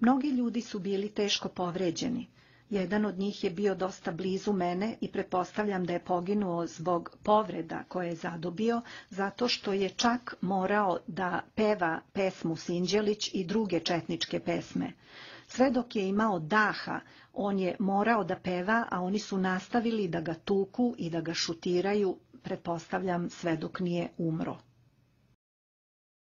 Mnogi ljudi su bili teško povređeni. Jedan od njih je bio dosta blizu mene i pretpostavljam da je poginuo zbog povreda koje je zadobio, zato što je čak morao da peva pesmu Sinđelić i druge četničke pesme. Sve dok je imao daha, on je morao da peva, a oni su nastavili da ga tuku i da ga šutiraju, pretpostavljam sve dok nije umro.